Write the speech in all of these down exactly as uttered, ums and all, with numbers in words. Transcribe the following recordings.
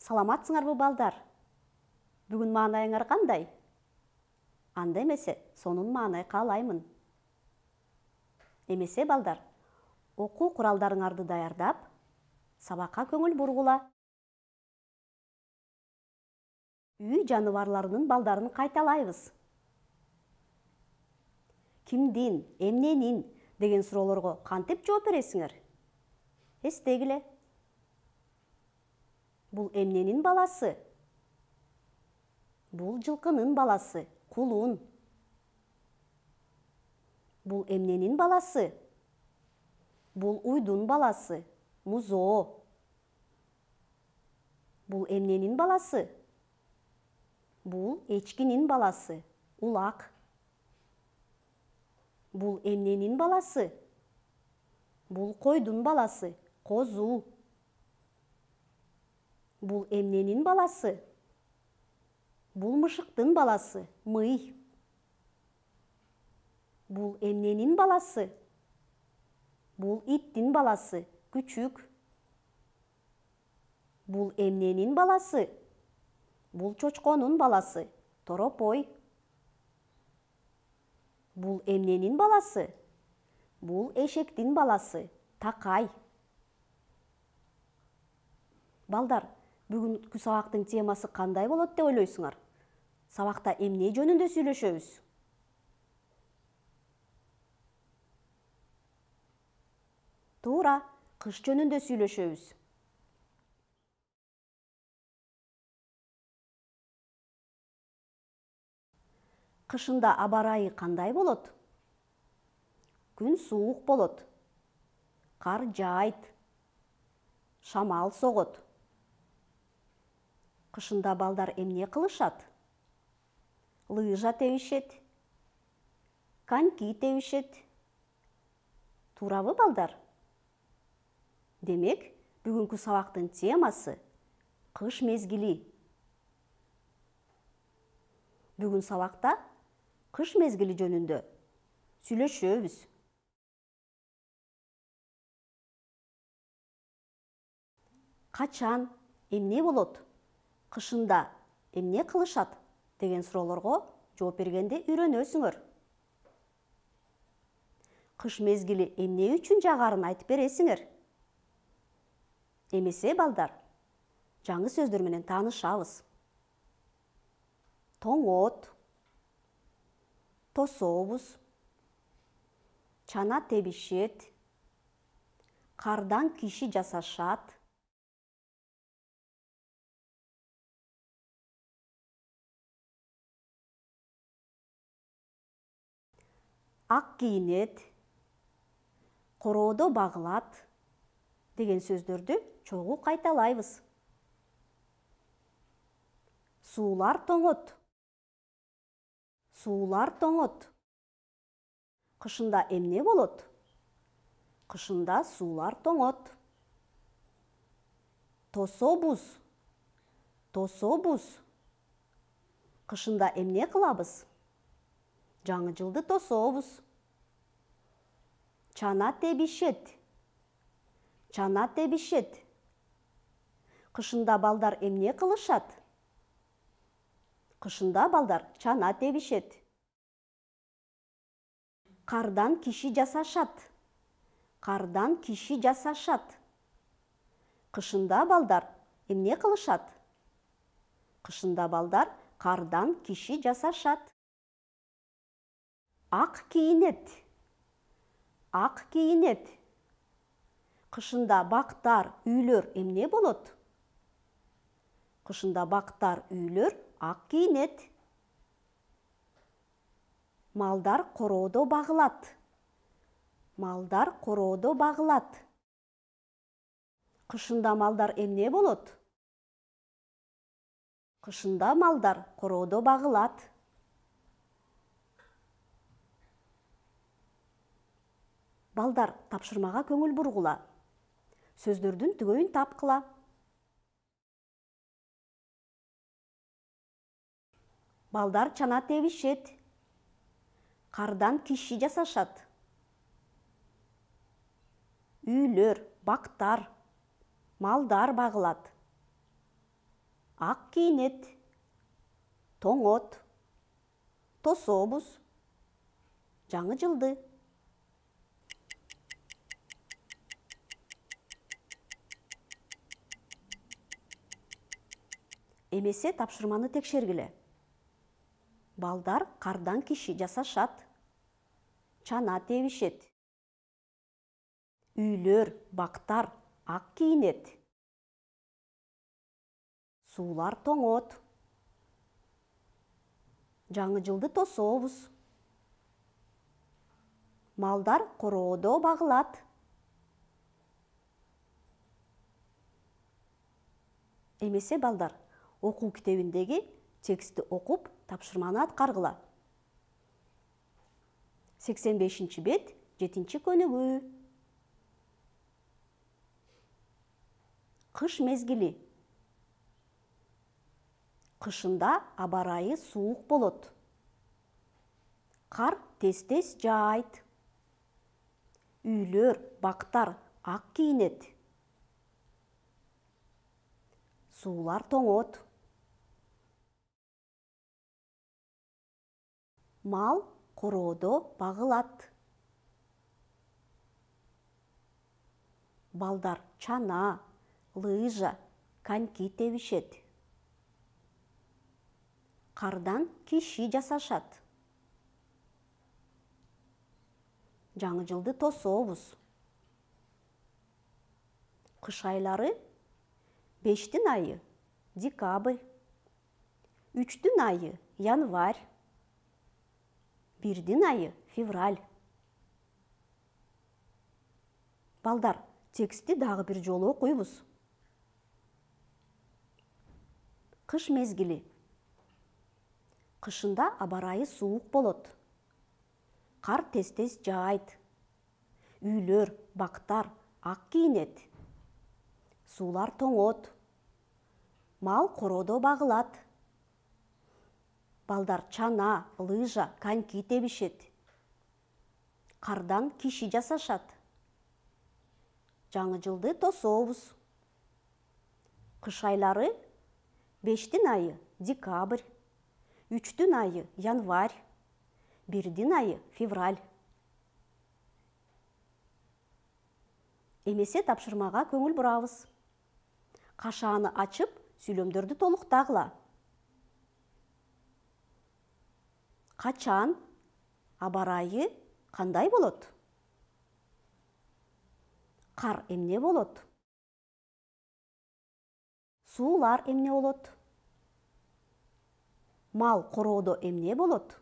Саламатсыңарбы балдар? Бүгүн маанайыңар кандай? Анда эмесе, сонун маанай каалаймын. Эмесе балдар, окуу куралдарыңарды даярдап, сабакка көңүл бургула. Үй жаныбарларынын балдарын кайталайбыз. Кимдин, эмненин деген суроолорго кантип жооп бересиңер? Эстегиле. Бул эмненин баласы? Бул жылкынын баласы, кулун. Бул эмненин баласы? Бул уйдун баласы, музоо. Бул эмненин баласы? Бул эчкинин баласы, улак. Бул эмненин баласы? Бул койдун баласы, козу. Бул эмненин баласы? Бул мышыктын баласы, мый. Бул эмненин баласы? Бул иттин баласы, күчүк. Бул эмненин баласы? Бул чочконун баласы, торопой. Бул эмненин баласы? Бул эшектин баласы, такай. Балдар, бүгүнкү сабактын темасы кандай болот деп ойлойсуңар? Сабакта эмне жөнүндө сүйлөшөбүз? Туура, кыш жөнүндө сүйлөшөбүз. Кышында аба ырайы кандай болот? Күн суук болот. Кар жаайт. Шамал согот. Кышында балдар эмне кылышат? Лыжа тебишет. Коньки тебишет. Туурабы балдар? Демек, бүгүнкү сабактын темасы кыш мезгили. Бүгүн сабакта кыш мезгили жөнүндө сүйлөшөбүз. Качан, эмне болот? Кышында эмне кылышат деген суроолорго жооп бергенде үйрөнөсүңөр. Кыш мезгили эмне үчүн жагарын айтып бересиңер? Эмесе балдар, жаңы сөздөр менен таанышабыз. Тоңот, тособуз, чана тебишет, кардан киши жасашат, ак кийинет, короодо багылат деген сөздөрдү чогуу кайталайбыз. Суулар тоңот. Суулар тоңот. Кышында эмне болот? Кышында суулар тоңот. Тособуз. Тособуз. Кышында эмне кылабыз? Жаңы жылды тособуз. Чана тебишет. Чана тебишет. Кышында балдар эмне кылышат? Кышында балдар чана тебишет. Кардан киши жасашат. Кардан киши жасашат. Кышында балдар эмне кылышат? Кышында балдар кардан киши жасашат. Ак кийинет. Ак кийинет. Кышында бактар, үйлөр эмне болот? Кышында бактар, үйлөр ак кийинет. Малдар короодо багылат. Малдар короодо багылат. Кышында малдар эмне болот? Кышында малдар короодо багылат. Балдар, тапшырмага көңүл бургула. Сөздөрдүн түгөйүн тапкыла. Балдар чана тебишет. Кардан киши жасашат. Үйлөр, бактар, малдар багылат. ак кийинет, тоңот, тособуз, жаңы жылды. Эмесе тапшырманы текшергиле. Балдар кардан киши жасашат, чана тебишет. Үйлөр, бактар ак кийинет. Суулар тоңот. Жаңы жылды тособуз. Малдар короодо багылат. Эмесе балдар, окуу китебиндеги текстти окуп, тапшырманы аткаргыла. сексен бешинчи бет, жетинчи көнүгүү. Кыш мезгили. Кышында аба ырайы суук болот. Кар тез-тез жаайт. Үйлөр, бактар ак кийинет. Суулар тоңот. Мал короодо багылат. Балдар чана, лыжа, коньки тебишет. Кардан киши жасашат. Жаңы жылды тособуз. Кыш айлары: бештин айы декабрь, үчтүн айы январь, бирдин айы февраль. Балдар, текстти дагы бир жолу окуйбуз. Кыш мезгили. Кышында аба ырайы суук болот. Кар тез-тез жаайт. Үйлөр, бактар ак кийинет. Суулар тоңот. Мал короодо багылат. Балдар чана, лыжа, коньки тебишет. Кардан киши жасашат. Жаңы жылды тособуз. Кыш айлары: бештин айы декабрь, үчтүн айы январь, бирдин айы февраль. Эмесе тапшырмага көңүл бурабыз. Кашааны ачып, сүйлөмдөрдү толуктагыла. Качан аба ырайы кандай болот? Кар эмне болот? Суулар эмне болот? Мал короодо эмне болот?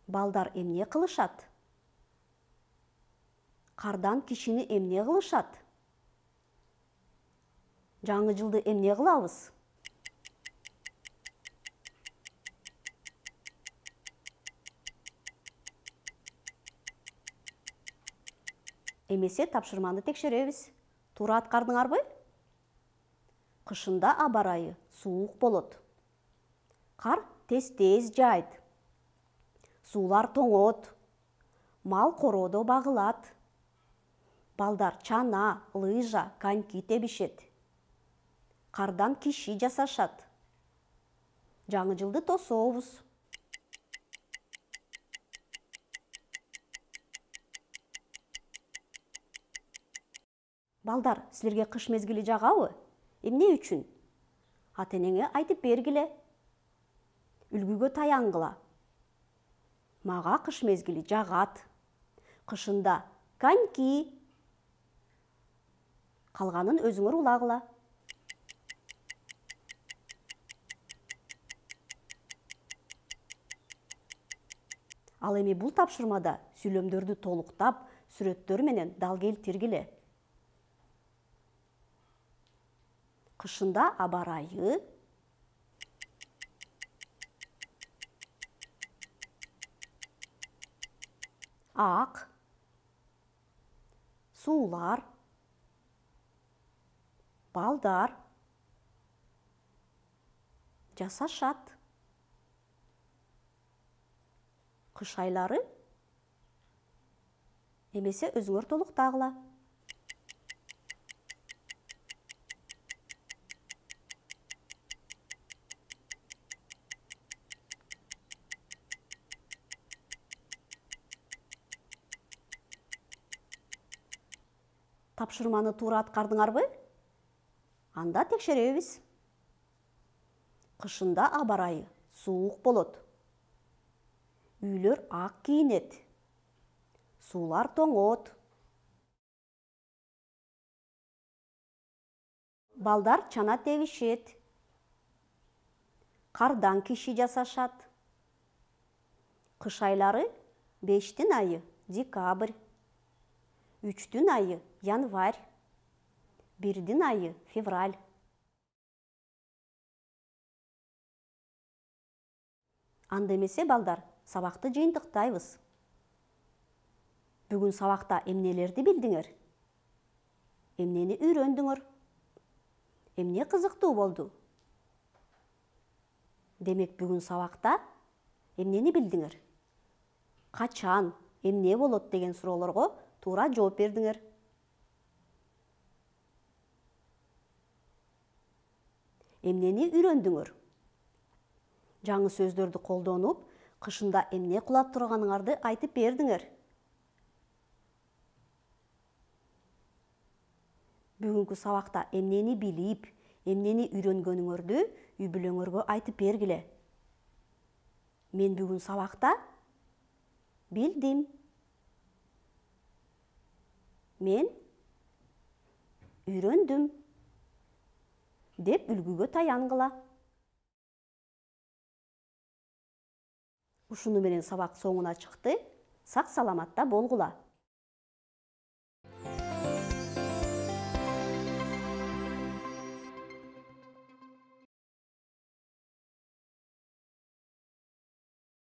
Балдар эмне кылышат? Кардан кишини эмне кылышат? Жаңы жылды эмне кылабыз? Эмесе тапшырманы текшеребиз. Туура аткардыңарбы? Кышында аба ырайы суук болот. Кар тез-тез жаайт. Суулар тоңот. Мал короодо багылат. Балдар чана, лыжа, коньки тебишет. Кардан киши жасашат. Жаңы жылды тособуз. Балдар, силерге кыш мезгили жагабы? Эмне үчүн? Ата-энеңе айтып бергиле. Үлгүгө таянгыла. Мага кыш мезгили жагат. Кышында коньки. Калганын өзүңөр улагыла. Ал эми бул тапшырмада сүйлөмдөрдү толуктап, сүрөттөр менен дал келтиргиле. Кышында аба ырайы ак, суулар, балдар жасашат. Кыш айлары эмесе өзүңөр толуктагыла. Тапшырманы туура аткардыңарбы? Анда текшеребиз. Кышында аба ырайы суук болот. Үйлөр ак кийинет. Суулар тоңот. Балдар чана тебишет. Кардан киши жасашат. Кыш айлары бештин айы декабрь, үчтүн айы январь, бирдин айы февраль. Анда эмесе балдар, сабакты жыйынтыктайбыз. Бүгүн сабакта эмнелерди билдиңер? Эмнени үйрөндүңөр? Эмне кызыктуу болду? Демек бүгүн сабакта эмнени билдиңер? Качан, эмне болот деген суроолорго туура жооп бердиңер. Эмнени үйрөндүңөр? Жаңы сөздөрдү колдонуп, кышында эмне кыла турганыңарды айтып бердиңер. Бүгүнкү сабакта эмнени билип, эмнени үйрөнгөнүңөрдү үй бүлөңөргө айтып бергиле. Мен бүгүн сабакта билдим. Мен үйрөндүм деп үлгүгө таянгыла. Ушуну менен сабак соңуна чыкты. Сак саламатта болгула.